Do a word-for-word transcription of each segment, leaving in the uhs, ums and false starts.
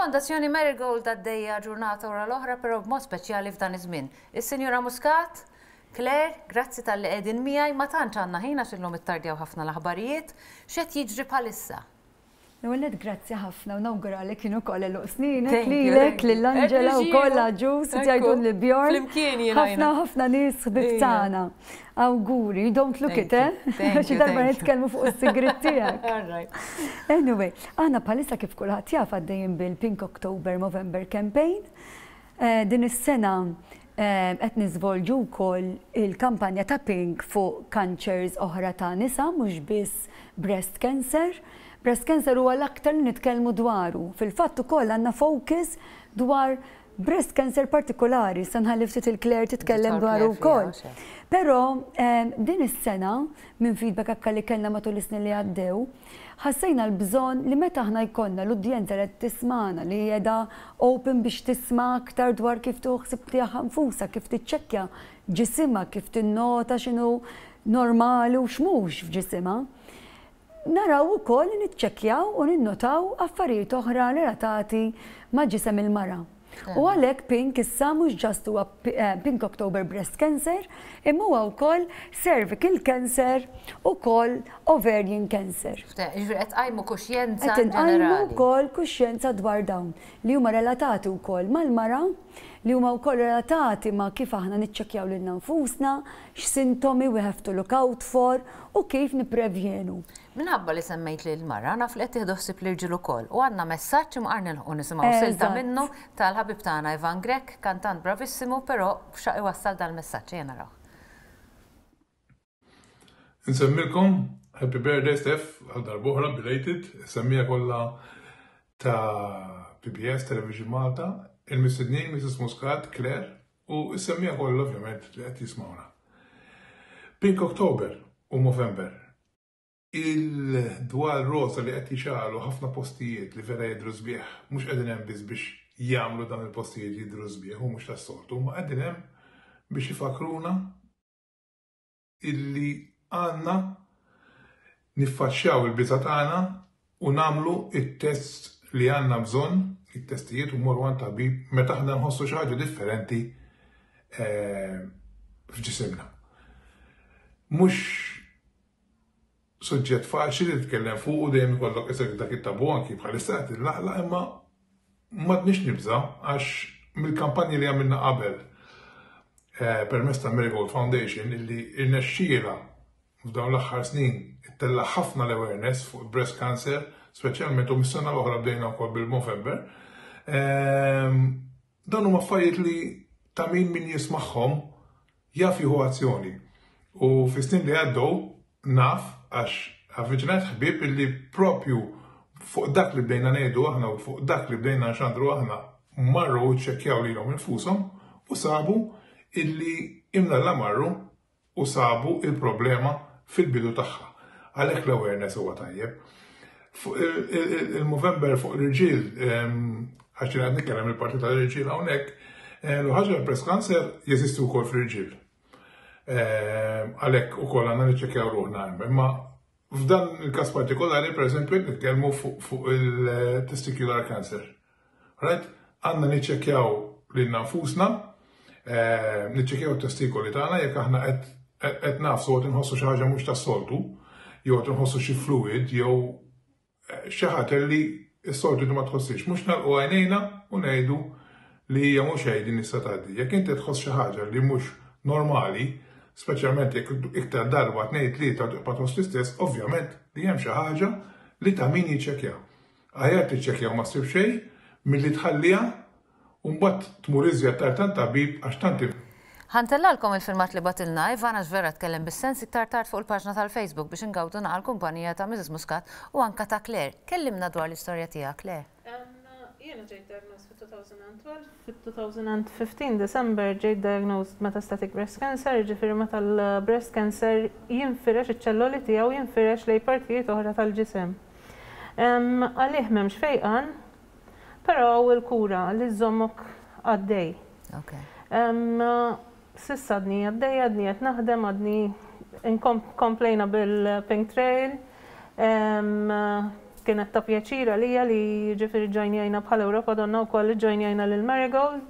Il-Fondazzjoni Marigold għaddejja ġurnata wara l-oħra, però b'mod speċjali f'dan iż-żmien. Is-Sinjura Muscat, Claire, grazzi talli qegħdin miegħi. Ma tantx għandna ħin għax illum ittardjaw ħafna l-aħbarijiet. X'qed jiġri bħalissa? L-ewwel, grazzi ħafna u nawguralek kienu koll għeluq sninek lilek, lil Angela u koll ġus, jgħidun li Bjorn. Ħafna ħafna nies ħbib tagħna. Awguri, you don't look it, eh? Xi darba nitkellmu fuq is-sigrit tiegħek. Anyway, aħna bħalissa, kif kulħadd jaf, għaddejjin bil-Pink October Movember Campaign. Eh, din is-sena eh, qed niżvolġu wkoll il-kampanja ta' Pink fuq cancers oħra ta' nisa, mhux biss breast cancer. Breast cancer huwa l-aktar li nitkellmu dwaru. Fil-fatt ukoll għandna focus dwar breast cancer partikolari, sa nħalli ftit il-Claire titkellem dwaru wkoll. Però din is-sena, minn feedback akka li kellna matul is-snin li għaddew, ħassejna l-bżonn li meta aħna jkollna l-udjenza li tismana, li qiegħda open biex tisma' aktar dwar kif tuħsib tiegħha nfusha, kif tiċċekkja ġisimha, kif tinnota x'inhu normali u x'mhux f'ġisimha, naraw ukoll niċċekkjaw u ninnotaw affarijiet oħra relatati ma' ġisem il-mara. U għalhekk Pink issa mhux just huwa eh, Pink October Breast Cancer, imma huwa wkoll cervical cancer u wkoll ovarian cancer. Ġifieri qed tqajmu kuxjenza. Qed inqajmu wkoll kuxjenza dwar dawn li huma relatati wkoll mal-mara, li huma wkoll relatati ma' kif aħna niċċekkjaw lilna nfusna, x'sintomi we have to look out for u kif nipprevjenu. Minħabba li semmejt li l-mara, naf li qed tieħdu ħsieb l-irġiel ukoll. U għandna messaġġ imqar nilħqu nisimgħu silta minnu tal-ħabib tagħna Ivan Grech, kantant bravissimu, però xtaq iwassal dal-messaġġ, ejja naraw. Insemmilkom Happy Birthday, Steph, għal darb'oħra belated, semmiegħa kollha ta' P B S Television Malta, il-mistednin Missus Muscat, Claire, u s-semmiegħa kollha ovvjament li qed jismawna. Pink October u Movember. Il-dwal rosa li qed jixegħlu ħafna postijiet li vera jidru sbieħ, mhux qegħdin hemm biss biex jagħmlu dan il-postijiet jidru sbieħ u mhux tas-soltu, ma qegħdin hemm biex ifakruna illi għandna niffaċċjaw il-biża tagħna u nagħmlu it-test li għandna bżonn, it-testijiet, u morru għand tabib meta aħna nħossu xi ħaġa differenti eh, f'ġisimna. Mhux suġġett faċli li titkellem fuq u dejjem ikollok isek dak it-tabu, anki bħalissa qed illaqla, imma m'għadniex nibża għax mill-kampanji li għamilna qabel eh, permezz ta' Marigold Foundation, illi irnexxiela f'dawn l-aħħar snin ittella' ħafna l-awareness fuq breast cancer, speċjalment, u mis-sena l-oħra bdejna wkoll bil-Movember. Ehm, dan huma affarijiet li ta' min min jismagħhom jaf jieħu azzjoni. U fis-snin li għaddew naf għax avviċinat ħbieb illi propju fuq dak li bdejna ngħidu aħna u fuq dak li bdejna nxandru aħna marru u ċċekkjaw lilhom infushom u sabu illi imnalla marru u sabu il-problema fil-bidu tagħha. Għalhekk l-awareness huwa tajjeb. Fuq il-Movember fuq l-irġiel, għax għad nitkellem il-parti tal-irġiel hawnhekk, l-ħaġa, l-breast cancer jeżisti wkoll fl-irġiel. Għalhekk ukoll għandna niċċekkjaw ruħna hemm. Imma f'dan il-każ partikolari, per eżempju, nitkellmu fuq il-testicular cancer. Right? Għandna niċċekkjaw lilna nfusna, niċċekkjaw it-testikoli tagħna jekk aħna qed nagħfsu qed inħossu xi ħaġa mhux tas-soltu, jew qed inħossu xi fluid jew xi ħaġa li s-soltu ma tħossix. Mhux nagħlqu għajnejna u ngħidu li hija mhux xejn, din issa tgħaddi. Jekk inti tħoss xi ħaġa li mhux normali, speċjalment jekk iktar darba, tnejn, tlieta, tibqa' tħoss l-istess, ovvjament li hemm xi ħaġa li ta' min jiċċekkja. Aħjar tiċċekkja u ma ssib xejn milli tħalliha u mbagħad tmur iżjed tard għand tabib għax tant Ħa ntellalkom il-filmat li bagħtilna Ivan, għax vera tkellem bis-sens, iktar tard fuq il-paġna tal-Facebook biex ingawdu naqal kumpanija ta' Missus Muscat u anka ta' Claire. Kellimna dwar l-istorja tiegħek, Claire. Jiena ġejt diagnosed fit-elfejn u tnax, fit-elfejn u ħmistax December ġejt diagnosed metastatic breast cancer, ġifieri meta l-breast cancer jinfirex, iċ-ċelloli tiegħu jinfirex lejn partijiet oħra tal-ġisem. Għalih m'hemmx fejqan, però il-kura li żżommok għaddej. S'issa għadni għaddej, għadni qed naħdem, għadni komplejna bil-Pink Trail. Kienet ta' pjaċir għalija li ġifieri ġojnjajna bħala Ewropa Donna wkoll ġojnjajna lil Marigold.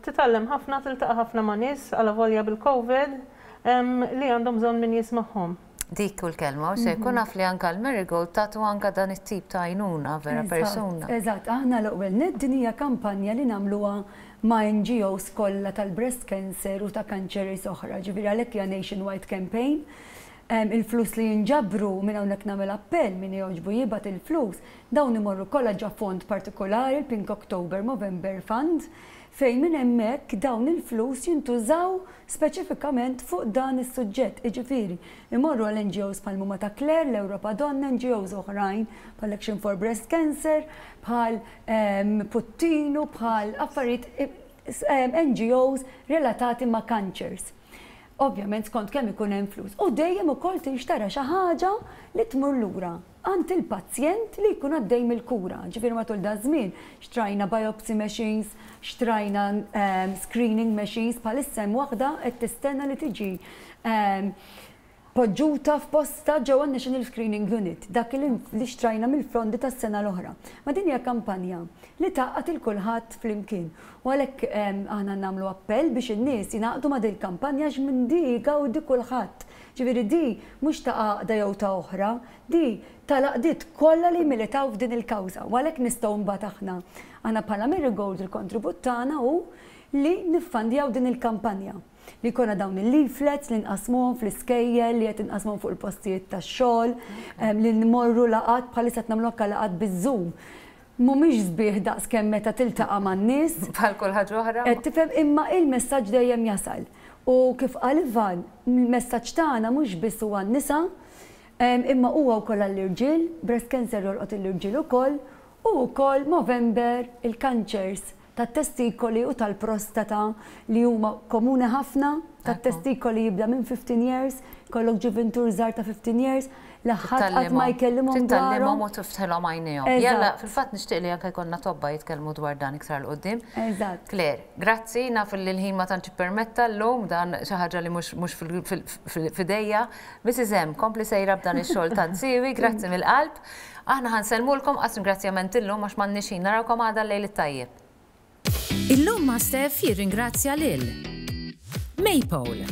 Titgħallem ħafna, tiltaqa' ħafna ma' nies għalavolja bil-Covid li għandhom bżonn min jismagħhom. Dik u l-kelma, u se jkun naf li anka l-Marigold tagħtu anka dan it-tip ta' għajnuna vera persuna. Eżatt, aħna l-ewwel nett din hija kampanja li nagħmluha ma' N G Os kollha tal-breast cancer u ta' kanċeri oħra. Ġifieri għalhekk hija nationwide campaign. Il-flus li jinġabru, minn hawnhekk nagħmel appell, min jogħġbu jibgħat il-flus, dawn imorru kollha ġo fond partikolari, il-Pink October Movember Fund, fejn minn hemmhekk dawn il-flus jintużaw speċifikament fuq dan is-suġġett. Jiġifieri, imorru għal N G Os bħal huma ta' Claire, l-Europa Donna, N G Os oħrajn bħal Action for Breast Cancer, bħal Puttinu, bħal affarijiet N G Os relatati ma' cancers. Ovvjament skont kemm ikun hemm flus. U dejjem ukoll tinxtara xi ħaġa li tmur lura għand il-pazjent li jkun għaddej mill-kura. Ġifieri matul da żmien xtrajna biopsy machines, xtrajna um, screening machines, bħalissa hemm waħda qed tistenna li tiġi um, poġġuta f'posta ġewwa National Screening Unit, dak li xtrajna mill-fondi tas-sena l-oħra. Ma din hija kampanja li tgħaqqad lil kulħadd flimkien. U għalhekk aħna nagħmlu appell biex in-nies jingħaqdu ma' din kampanja għax minn di jgawdi kulħadd. Ġifieri di mhux ta' għaqda jew ta' oħra, di tal-għaqdiet kollha li militaw f'din il-kawża. U għalhekk nistgħu mbagħad aħna aħna bħala Marigold il-kontribut tagħna hu li niffandjaw din il-kampanja li jkollna dawn il-leaflets li nqasmuhom fl-iskejjel, li qed inqasmuhom fuq il-postijiet tax-xogħol, li nmorru laqgħat, bħalissa qed nagħmlu anke laqgħat biż-Zoom. Mhumiex sbieħ daqs kemm meta tiltaqa' man-nies. Bħal kull ħaġa oħra. Qed tifhem, imma il-messaġġ dejjem jasal. U kif qal Ivan, il-messaġġ tagħna mhux biss huwa n-nisa, imma huwa wkoll għall-irġiel, breast cancer jolqot l-irġiel ukoll, u wkoll Movember il-kanċers tat-testikoli u tal-prostata li huma komuni ħafna, tat-testikoli jibda minn fifteen years, kollok ġuvintur żgħar ta' fifteen years, l-ħadd qatt ma jkellimhom Titgħallimhom u tiftħilhom għajnejhom. Jalla, fil-fatt nixtieq li anke jkollna tobba jitkellmu dwar dan iktar 'l quddiem. Eżatt. Claire, grazzi, naf li l-ħin ma tantx permetta llum, dan xi ħaġa li mhux mhux f'idejja. Missus M, kompli sejra b'dan ix-xogħol tant siewi, grazzi mill-qalb. Aħna ħa nsellmulkom qas ringrazzjament illum għax m'għandniex ħin. Narawkom għada, lejl it-tajjeb. Illum ma' Steph jirringrazzja lil Maypole,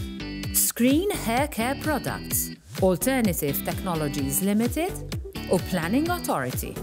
Screen Hair Care Products, Alternative Technologies Limited u Planning Authority.